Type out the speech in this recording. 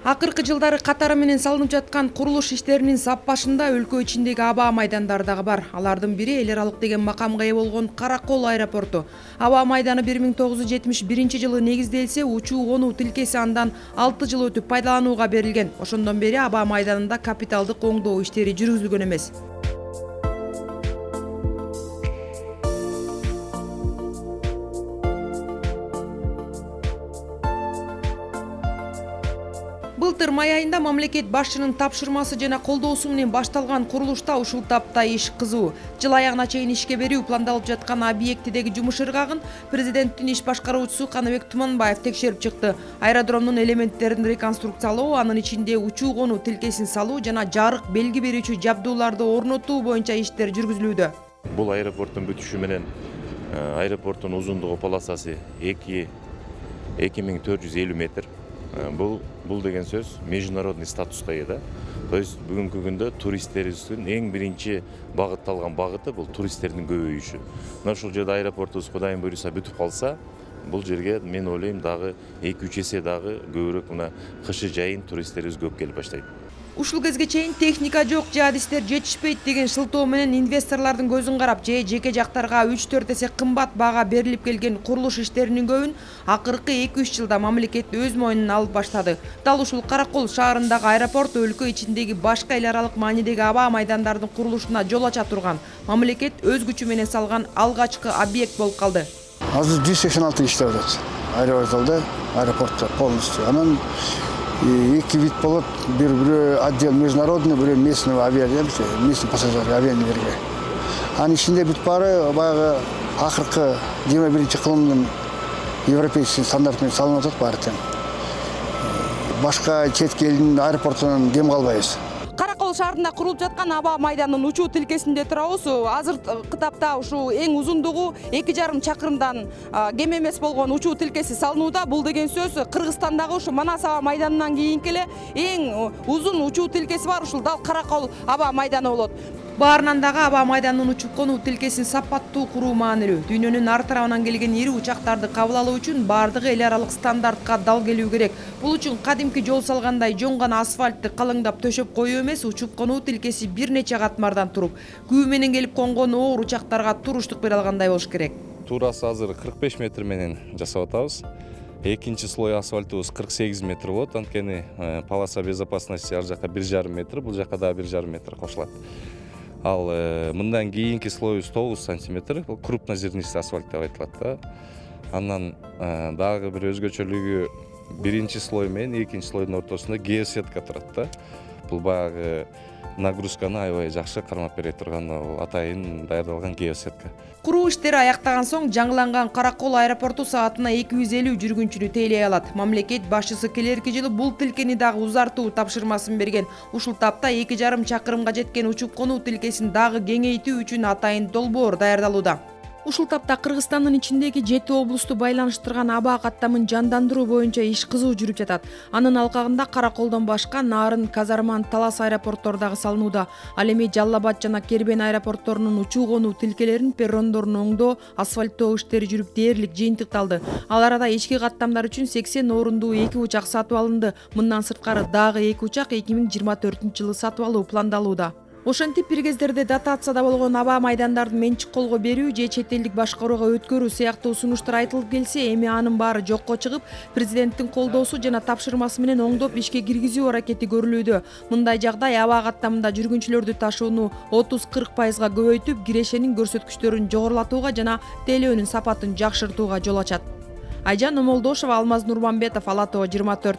Акыркы жылдары катары менен салынып жаткан курулуш иштеринин сап башында өлкө ичиндеги аба майдандары дагы бар. Алардын бири эл аралык деген макамга ээ болгон Каракол аэропорту. Аба майданы 1971 жылы негизделсе, учуу конуу тилкеси андан 6 жыл өтүп пайдаланууга берилген. Ошондон бери аба майданында капиталдык оңдоо иштери жүргүзүлгөн эмес. Былтыр май айында мамлекет башчынын тапшырмасы жана колдоосу менен башталган курулушта ушул тапта иш кызуу. Жыл аягына чейин ишке берүү пландалып жаткан объектидеги жумуш ыргагын президенттин иш башкаруучусу Каныбек Туманбаев текшерип чыкты. Аэродромдун элементтерин реконструкциялоо, анын ичинде учуу конуу тилкесин салуу жана жарык белги берүүчү жабдууларды орнотуу боюнча иштер жүргүзүлүүдө. Бул аэропорттун бүтүшү менен аэропорттун узундугу полосасы 2450 метр. Бул деген сөз международный статуска ээ да. То есть бүгүнкү күндө туристтерибиздин эң биринчи багытталган багыты бул туристтердин көбөйүшү. Мына ушул жерде аэропортубуз Кудайым буйруса бүтүп калса, бул жерге мен ойлойм дагы 2-3 эсе дагы көбүрөөк мына кышы жайын туристтерибиз көп келип баштайт. Ушул кезге чейин техника жок, жаадистер жетишпейт деген шылтоо менен инвесторлордун көзүн карап, жеке жактарга 3-4 эсе кымбат баага берилип келген курулуш иштеринин көбүн акыркы 2-3 жылда мамлекет өз мойнуна алып баштады. Дал ушул Каракол шаарындагы аэропорт өлкө ичиндеги башка эл аралык маанидеги аба майдандардын курулушуна жол ача турган. Мамлекет өз күчү менен салган алгачкы объект болуп калды. Азыр 186 иштеп атат. Аэропортто полностью. Анан эки вид болот, бир отдел международный, бир местный авиалерге, местный пассажирский авиалерге. Анын ичинде бүт баары баягы акыркы 21-кылымдын европейский стандарт менен салынып атат баары тең. Башка четке элдин аэропортунан кем калбайбыз. Каракол шаарында курулуп жаткан аба майданынын учуу тилкесинде турабыз. Азыркы тапта ушул эң узундугу 2,5 чакырымдан кем эмес болгон учуу тилкеси салынууда. Бул деген сөз Кыргызстандагы ушу Манас аба майданынан кийинки эле эң узун учуу тилкеси бар ушул дал Каракол аба майданы болот. Баарынан дагы аба майданынын учуп конуу тилкесин сапаттуу куруу маанилүү. Дүйнөнүн ар тарабынан келген ири учактарды кабыл алуу үчүн бардыгы эл аралык стандартка дал келүү керек. Бул үчүн кадимки жол салгандай жоңгон асфальтты калыңдап төшөп коюу эмес, учуп конуу тилкеси бир нече катмардан туруп, күү менен келип конгон оор учактарга туруштук бере алгандай болуш керек. Туурасы азыр 45 метр менен жасап атабыз. Экинчи слой асфальтыбыз 48 метр болот. Анткени полоса безопасности ар жака 1,5 метр, бул жака дагы 1,5 метр кошулат. Ал мындан кийинки слоюбуз 9 сантиметр, бул крупнозернистый асфальт деп айтылат да. Андан дагы бир өзгөчөлүгү биринчи слой менен экинчи слойдун ортосунда геосетка турат да. Бул баягы нагрузканы аябай жакшы кармап бере турган атайын даярдалган геосетка. Куруу иштери аяктаган соң жаңыланган Каракол аэропорту саатына 250 жүргүнчүнү тейлей алат. Мамлекет башчысы келерки жылы бул тилкени дагы узартуу тапшырмасын берген. Ушул тапта 2,5 чакырымга жеткен учуп конуу тилкесин дагы кеңейтүү үчүн атайын долбоор даярдалууда. Ушул тапта Кыргызстандын ичиндеги 7 облусту байланыштырган аба каттамын жандандыруу боюнча иш кызуу жүрүп жатат. Анын алкагында Караколдон башка Нарын, Казарман, Талас аэропорттору дагы салынууда. Ал эми Жалал Абад жана Кербен аэропортторунун учуу конуу тилкелерин, перрондорун оңдоо, асфальттоо иштери жүрүп дээрлик жыйынтыкталды. Ал арада ички каттамдар үчүн 80 орундуу 2 учак сатып алынды. Мындан сырткары дагы 2 учак 2024-жылы сатып алуу пландалууда. Ошентип бир кездерде дотацияда болгон аба майдандардын менчик колго берүү же чет элдик башкарууга өткөрүү сыяктуу сунуштар айтылып келсе, эми анын баары жокко чыгып, президенттин колдоосу жана тапшырмасы менен оңдоп ишке киргизүү аракети көрүлүүдө. Мындай жагдай аба каттамында жүргүнчүлөрдү ташууну 30-40% көбөйтүп, кирешенин көрсөткүчтөрүн жогорулатууга жана тейлөөнүн сапатын жакшыртууга жол ачат. Айжан Омолдошова, Алмаз Нурманбетов, Ала Тоо 24.